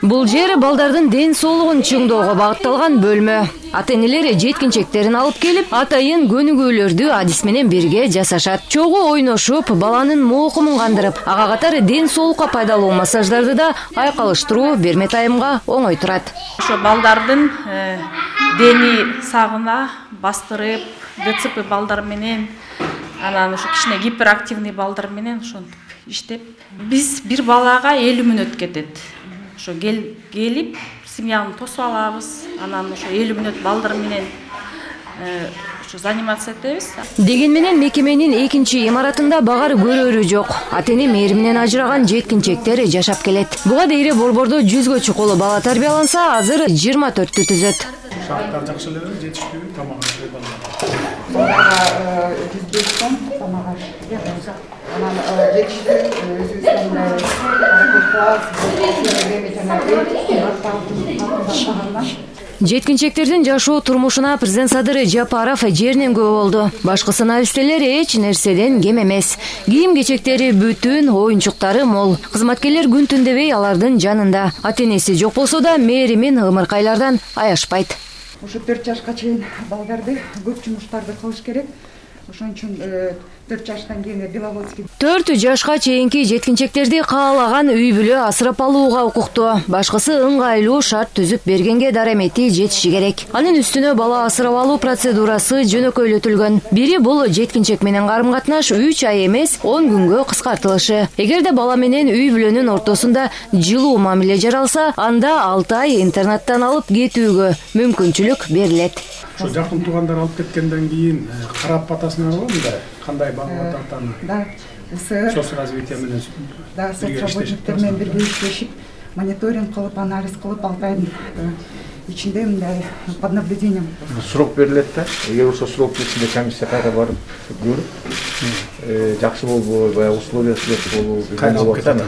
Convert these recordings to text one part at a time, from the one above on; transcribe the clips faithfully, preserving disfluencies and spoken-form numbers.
Бул жер балдардын ден соолугун чыңдоого багытталган бөлмө. Ата-энелер жеткинчектерин алып келип, атайын көнүгүүлөрдү адис менен бирге жасашат. Чогуу ойношуп, баланын моокумун кандырып, ага катары ден соолукка пайдалуу массаждарды да айкалыштыруу бермет айымга оңой турат. Ошо балдардын дени сагына бастырып, ДЦП балдар менен, анан ошо кичине гиперактивный балдар менен ошентип иштеп, биз бир балага элүү мүнөт кетет. Ошо келип, семьяны тосуп алабыз, анан ошо элүү мүнөт балдар менен ошо заниматься этебиз. Деген менен мекеменин экинчи имаратында багар көрөрү жок. Ата-эне мээри менен ажыраган жеткинчектер жашап келет. Буга дейре борбордо жүзгө чукулу бала тарбияланса, азыр жыйырма төрттү түзөт. Шарттар жакшы эле, жетиштүү тамак ашып балдар. жүз беш сом тамак ашып. Анан жетиштүү өзүбүздүн жеткинчектердин жашоо турмушуна президент Садыр Жапаров жеринен күбө болду. Башкы навистелер эч нерседен кем эмес. Кийим-кечектери бүтүн, оюнчуктары мол. Кызматкерлер күн түн дебей алардын жанында. Ата-энеси жок болсо да мээри мен ымыркайлардан аяшпайт. Ошо төрт жашка чейин балдарды көп жумуштарды кылыш керек. Ошон үчүн төрт жаштан кийин Беловодский. төрт жашка чейинки жеткинчектерди каалаган үй бүлө асырап алууга укуктуу. Башкысы ыңгайлуу шарт түзүп бергенге дарамети жетиши керек. Анын үстүнө бала асырап алуу процедурасы жөнөкөйлөтүлгөн. Бири бул жеткинчек менен карым-катнаш үч ай эмес, он күнгө кыскартылышы. Эгерде бала менен үй бүлөнүн ортосунда жылуу мамиле жаралса, анда алты ай интернаттан алып кетүүгө мүмкүнчүлүк берилет. Ошо жакын туугандар алып кеткенден кийин карап атасына албайбы? Кандай багып атат? Да, соцразвитие менен. Да, соцработниктер менен бирге иштешип, мониторинг кылып, анализ кылып, алты айдын ичинде мындай под наблюдением. Срок берилет да. Эгер ошо срок ичинде комиссия кайра барып көрүп, жакшы болбой, баягы условия болобу, кайралып кетет.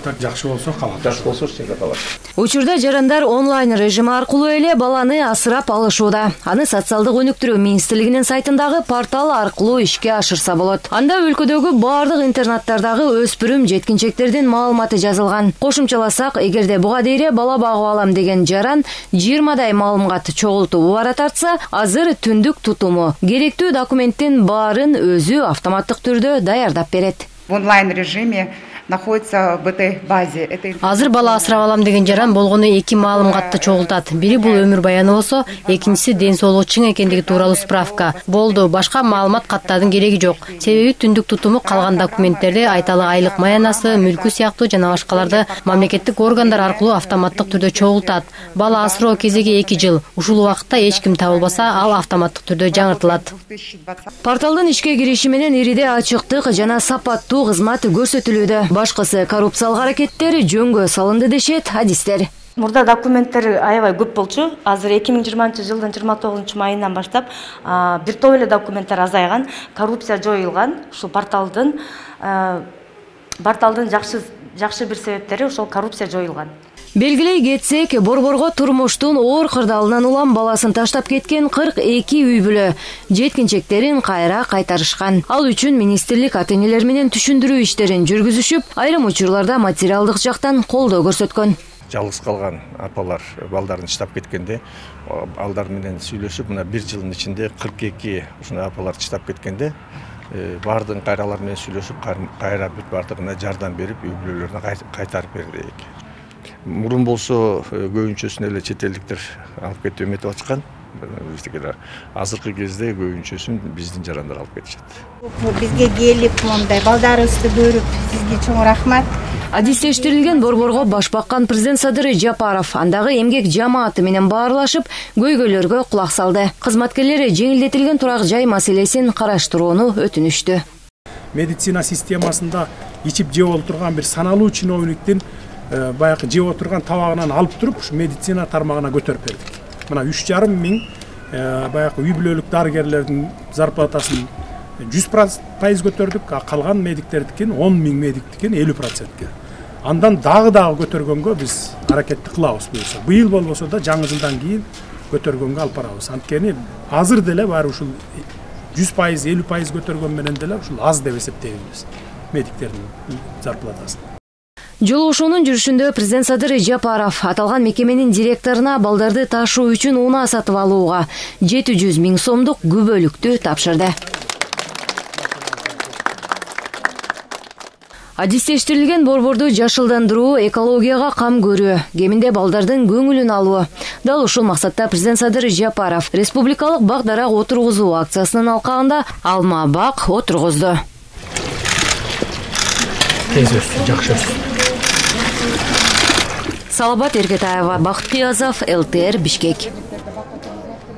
Так жакшы болсо калат. Жакшы болсо чек калат. Учурда жарандар онлайн режими аркылуу эле баланы асырап алышууда. Аны социалдык өнүктүрүү министрлигинин сайтындагы портал аркылуу ишке ашырса болот. Анда өлкөдөгү бардык интернаттардагы өспүрүм жеткинчектердин маалыматы жазылган. Кошумчаласак, эгерде буга дейре бала багып алам деген жаран жыйырмадай маалымат чогултуп убара тартса, азыр түндүк тутуму керектүү документтин баарын өзү автоматтык түрдө даярдап берет. В онлайн режиме находится в этой базе. Азыр бала асырап алам деген жаран болгону эки маалыматты чогултат. Бири бул өмүр баяны болсо, экинчиси ден соолугу чың экендиги тууралуу справка. Болду, башка маалымат каттаардын кереги жок. Себеби түндүк тутуму калган документтерди айталы айлык маянасы, мүлкү сыяктуу жана башкаларды мамлекеттик органдар аркылуу автоматтык түрдө чогултат. Бала асыроо кезеги эки жыл. Ушул убакытта эч ким табылбаса, ал автоматтык түрдө жаңыртылат. Порталдын ишке кириши менен ириде ачыктык жана сапаттуу кызмат көрсөтүлүүдө. Башкысы коррупциялык аракеттер жөнгө салынды дешет адистер. Мурда документтер аябай көп болчу. Азыр эки миң жыйырманчы жылдын жыйырма тогузунчу майынан баштап бир топ эле документтер азайган, коррупция жоюлган. Ушул порталдын порталдын жакшы жакшы бир себептери ошол коррупция жоюлган. Белгилей кетсек, борборго турмуштун оор кырдаалынан улам баласын таштап кеткен кырк эки үй бүлө жеткинчектерин кайра кайтарышкан. Ал үчүн министрлик ата-энелер менен түшүндүрүү иштерин жүргүзүшүп, айрым учурларда материалдык жактан колдоо көрсөткөн. Жалгыз калган апалар балдарын таштап кеткенде, алдар менен сүйлөшүп, мына бир жылдын ичинде кырк эки ушундай апалар таштап кеткенде, бардыгын кайралар менен сүйлөшүп, кайра бүт бардыгына жардам берип, үй бүлөлөрүнө кайтарып бердик. Мурун болсо көбүнчөсүн эле чет элдиктер алып кетип эметип ачкан. Азыркы кезде көбүнчөсүн биздин жарандар алып кетишет. Бизге келип, мондай балдарыбызды көрүп, сизге чоң рахмат. Адистештирилген борборго баш баккан президент Садыр Жапаров андагы эмгек жамааты менен баарлашып, көйгөйлөргө кулак салды. Кызматкерлери жеңилдетилген турак жай маселесин караштырууну өтүнүштү. Медицина системасында ичип жеп отурган бир саналуу чиновниктин баягы жеп отурган табагынан алып туруп, ушу медицина тармагына көтөрүп бердик. Мына үч жарым миң баягы үй бүлөлүк дарыгерлердин зарплатасын жүз пайыз көтөрдүк, калган медиктердикин он миң медиктикин элүү процентке. Андан дагы дагы көтөргөнгө биз аракетти кылабыз буюрса. Быйыл болбосо да жаңы жылдан кийин көтөргөнгө алып барабыз. Анткени азыр деле баары ушул жүз пайыз, элүү пайыз көтөргөн менен деле ушул аз деп эсептейбиз медиктердин зарплатасын. Жолугушуунун жүрүшүндө президент Садыр Жапаров аталган мекеменин директоруна балдарды ташуу үчүн унаа сатып алууга жети жүз миң сомдук күбөлүктү тапшырды. Адистештирилген борборду жашылдандыруу, экологияга кам көрүү, кеминде балдардын көңүлүн алуу. Дал ушул максатта президент Садыр Жапаров республикалык бак дарак отургузуу акциясынын алкагында алма бак отургузду. Тез өссүн, жакшы өссүн. Салабат Эркетаева, Бакыт Кыязов, эл тэ эр Бишкек.